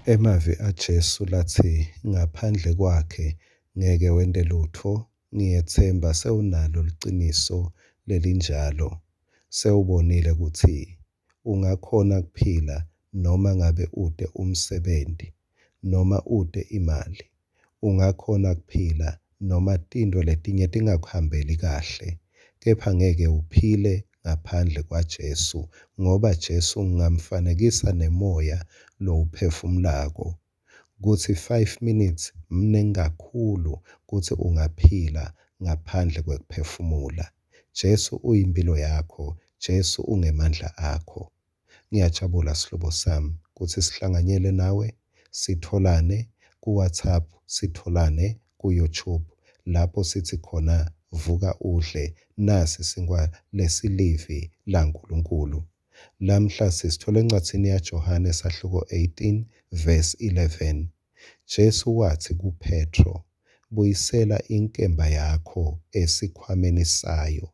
Emavi aJesu latsi ngaphandle kwakhe ngeke wente lutfo, ngiyetsemba sewunalo liciniso lelinjalo. Sewubonile kutsi ungakhona kuphila noma ngabe ute umsebenti, noma ute imali. Ungakhona kuphila noma tintfo letinye tingakuhambeli kahle, kepha ngeke uphile ngaphandle kwaJesu, ngoba Jesu ngingamfanekisa nemoya lowuphefumulako kutsi 5 minutes mningi kakhulu kutsi ungaphila ngaphandle kwekuphefumula. Jesu uyimphilo yakho, Jesu ungemandla akho. Ngiyajabula sihlobo sami kutsi sihlanganyele nawe, sitholane ku-WhatsApp, sitholane ku-YouTube lapho sithi khona vuka udle nasi sinkwa lesilivi laNkulunkulu. Lamhla sisithola encwadzini yaJohane sahluko 18 verse 11. Jesu watsi kuPhetro, buyisela inkemba yakho esikhwameni sayo.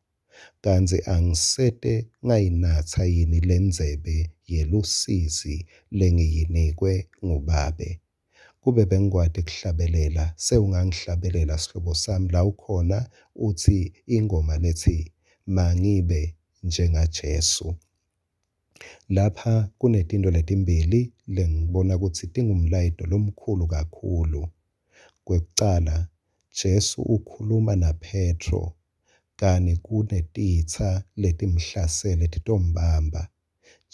Kantsi angisete ngayinatsa yini lendzebe yelusizi lengiyinikwe nguBabe? Kube bengikwati kuhlabelela, sewungangihlabelela sihlobo sami la ukhona utsi ingoma letsi mangibe njengaJesu. Lapha kunetintfo letimbili lengibona kutsi tingumlayeto lomkhulu kakhulu. Kwekucala, Jesu ukhuluma naPhetro kani kunetitsa letimhlasele titombamba.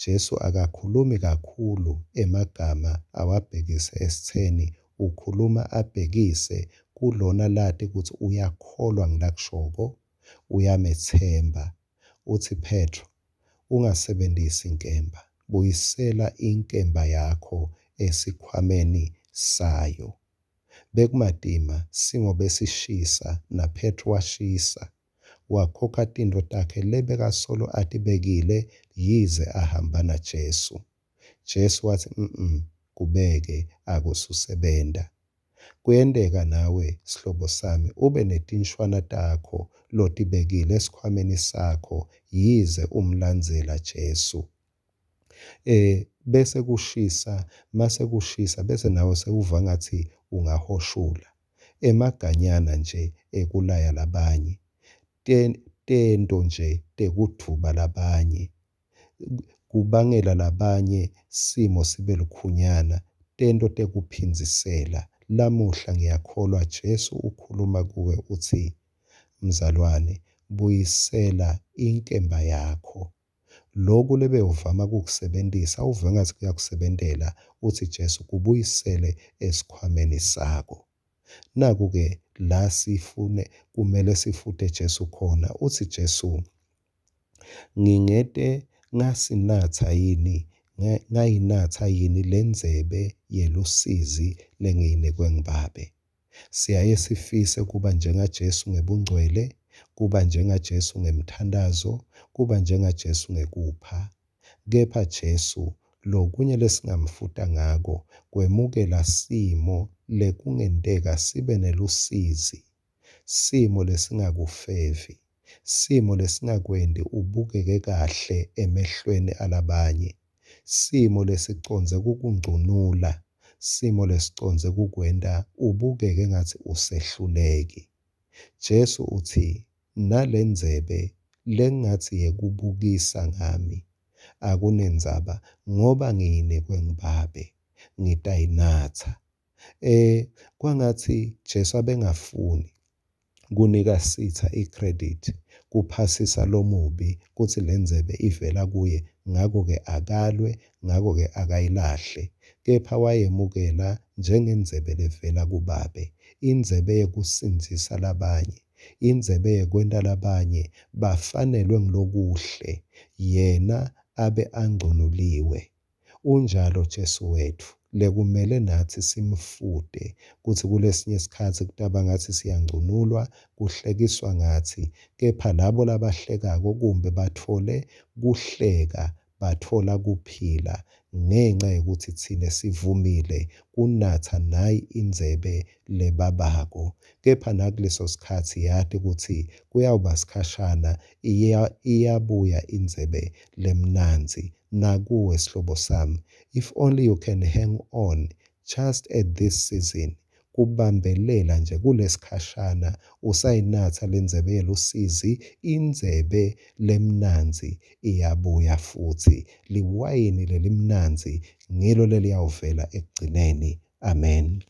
Jesu akakhulumi kakhulu emagama awabhekise esitseni, ukhuluma abhekise kulona lati kutsi uyakholwa ngulakushoko, uyametsemba. Utsi Phetro, ungasebentisi inkemba, buyisela inkemba yakho esikhwameni sayo. Bekumatima, simo besishisa naPhetro washisa. Wakhokha tintfo takhe lebekasolo atibekile yize ahamba naJesu. Jesu watsi, mm kubeke akususebenta. Kuyenteka nawe sihlobo sami ube netinshwana takho lotibekile esikhwameni sakho yize umlandzela Jesu. Bese kushisa, mase kushisa bese nawe sewuva ngathi ungahoshula. Emaganyana nje ekulaya labanye, tento nje tekudvuba labanye, kubangela labanye simo sibe lukhunyana, tento tekuphindzisela. Lamuhla ngiyakholwa Jesu ukhuluma kuwe utsi, mzalwane, buyisela inkemba yakho. Loku lebewuvama kukusebentisa uve ngathi kuyakusebentela, utsi Jesu kubuyisele esikhwameni sakho. Naku-ke la sifune kumele sifute Jesu khona. Utsi Jesu, ngingete ngasinatsa yini ngayinatsa yini lendzebe yelusizi lengiyinikwe nguBabe? Siyaye sifise kuba njengaJesu ngebungcwele, kuba njengaJesu ngemthandazo, kuba njengaJesu ngekupha. Kepha Jesu lokunye lesingamfuta ngako kwemukela simo lekungenteka sibe nelusizi, simo lesingakufevi, simo lesingakwenti ubukeke kahle emehlweni alabanye, simo lesicondze kukungcunula, simo lesicondze kukwenta ubukeke ngathi usehluleki. Jesu utsi, nalendzebe lengathi yekubukisa ngami akunendzaba ngoba ngiyinikwe nguBabe, ngitayinatsa. Kwangatsi Jesu abengafuni kunika sitha i-credit, kuphasisa lomubi kutsi lendzebe ivela kuye, ngako-ke akalwe, ngako-ke akayilahle. Kepha wayemukela njengendzebe levela kuBabe, indzebe yekusindzisa labanye, indzebe yekwenta labanye bafanelwe ngulokuhle, yena abe angconuliwe. Unjalo Jesu wetfu lekumele natsi simfute kutsi kulesinye isikhatsi kutaba ngathi siyangcunulwa, kuhlekiswa ngathi, kepha labo labahlekako kumbe batfole kuhleka batfola kuphila ngenca yekutsi thine sivumile kunatsa nayi indzebe lebabako. Kepha nakuleso sikhatsi yati kutsi kuyawuba sikhashana, iyabuya indzebe lemnandzi nakuwe sihlobo sami. If only you can hang on just at this season, kubambelela nje kulesikhashana usayinatsa lendzebe yelusizi, indzebe lemnandzi iyabuya futsi. Liwayini lelimnandzi ngilo leliyawuvela ekugcineni. Amen.